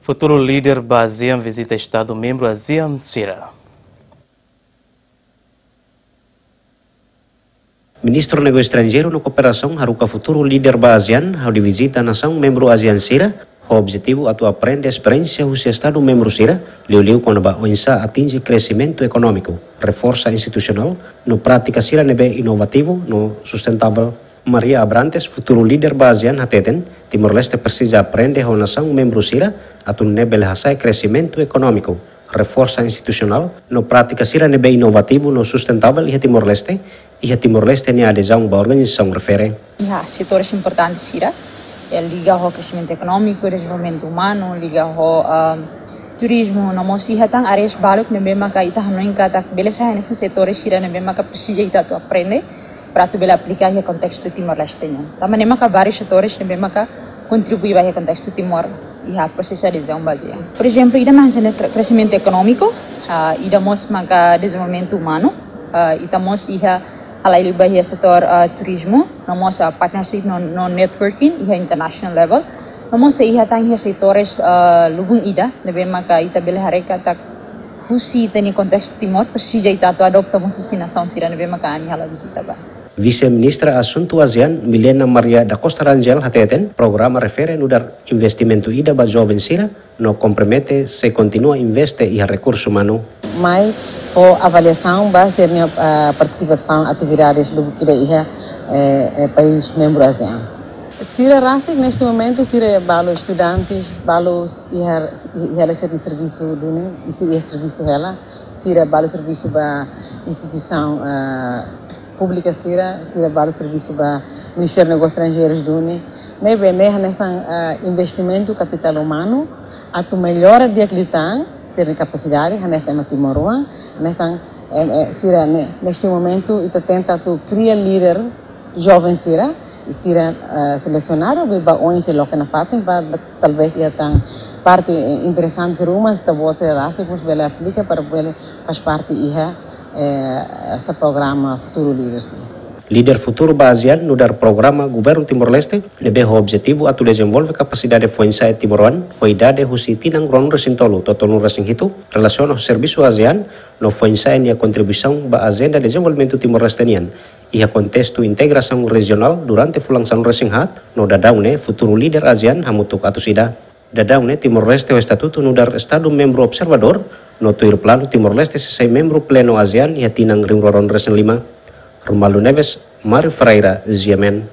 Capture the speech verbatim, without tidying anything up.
Futuru líder ba ASEAN vizita Estadu membru ASEAN sira. Ministru Negósiu Estranjeiru no Kooperasaun haruka futuru líder ba ASEAN hodi vizita nasaun membru ASEAN sira, ho objetivu atu aprende esperiénsia husi Estadu membru sira, liuliu kona-ba oinsá atinje kresimentu ekonómiku, reforsa institusionál, no prátika sira ne'ebé inovativu no sustentavel. Maria Abrantes, futuru líder ba ASEAN, hateten, Timor-Leste presiza aprende ho nasaun membru sira, atu nune'e bele hasa'e kresimentu ekonómiku, reforsa institusionál, no prátika sira ne'ebé inovativu no sustentavel iha Timor-Leste, iha Timor-Leste nia adezaun ba organizasaun refere. Iha setores importantes sira, eh, liga ho kresimentu ekonómiku, dezenvolvimentu umanu, liga ho, ah, turizmu, no mós iha tan áreas baluk ne'ebé maka ita hanoin katak bele sai hanesan setores sira ne'ebé maka presiza ita atu aprende, para atu bele aplika iha kontestu Timor-Leste nian. Tanba ne'e maka vários setores ne'ebé maka kontribui ba iha kontestu Timor iha prosesu adezaun ba ASEAN. Por ezemplu, ida mak hanesan kre-, kresimentu ekonómiku, ah, ida mós maka dezenvolvimentu umanu, ah, ita mós iha halai liu ba iha setór, ah, turizmu, no mós, ah, partnership no, no networking iha international level, no mós iha tan iha setores, ah, lubun ida ne'ebé maka ita bele haree katak husi ita-nia kontestu Timor presiza ita atu adopta mós husi nasaun sira ne'ebé maka ami halo vizita ba. Vise-Ministra Asuntu ASEAN, Milena Maria da Costa Rangel, hateten, programa refere nu'udar investimentu ida ba joven sira, no kompromete sei kontinua investe iha rekursu umanu. Mai fó avaliasaun ba sira-nia, ah, partisipasaun atividades lubuk ida iha, eh, eh, país membru ASEAN. Sira rasik neste momentu sira balu estudantes, balu iha, iha hela sira-nia servisu duni, i sira iha servisu hela, sira balu servisu ba instituisaun, ah, públika sira, sira balu servisu ba Ministériu Negósius Estranjeirus duni. Ne'ebé ne'e hanesan, ah, investimentu kapitál umanu, atu mellora di'ak liután sira-nia kapasidade, hanesan ema timoroan, hanesan, em, eh, sira ne'e, neste momentu, ita tenta atu kria líder joven sira, sira, eh, selesionadu, be ba oin sira loke nafatin, ba, ba, talvés iha tan parte, eh, interesante ruma, ita-boot sira rasik mós bele aplika para bele faz parte iha, eh, esse programa Futuru Líderes. Líder futuru ba ASEAN nu'udar programa Governu Timor-Leste, ne'ebé ho objetivu atu dezenvolve kapasidade foin-sa'e timoroan, ho idade husi tinan ruanulu-resin-tolu to'o tolunulu-resin-hitu, relasiona ho servisu ASEAN, no foin-sa'e nia kontribuisaun ba ajenda dezenvolvimentu Timor-Leste nian, iha kontestu integrasaun rejionál durante fulan sanulu-resin-haat, no daudaun ne'e futuru líder ASEAN hamutuk atus ida. Daudaun ne'e Timor-Leste ho estatutu nu'udar Estadu membru observadór, no tuir planu Timor-Leste sei sai membru plenu ASEAN iha tinan rihun rua ruanulu-resin-lima. Romualdo Neves, Mário Ferreira, G M N.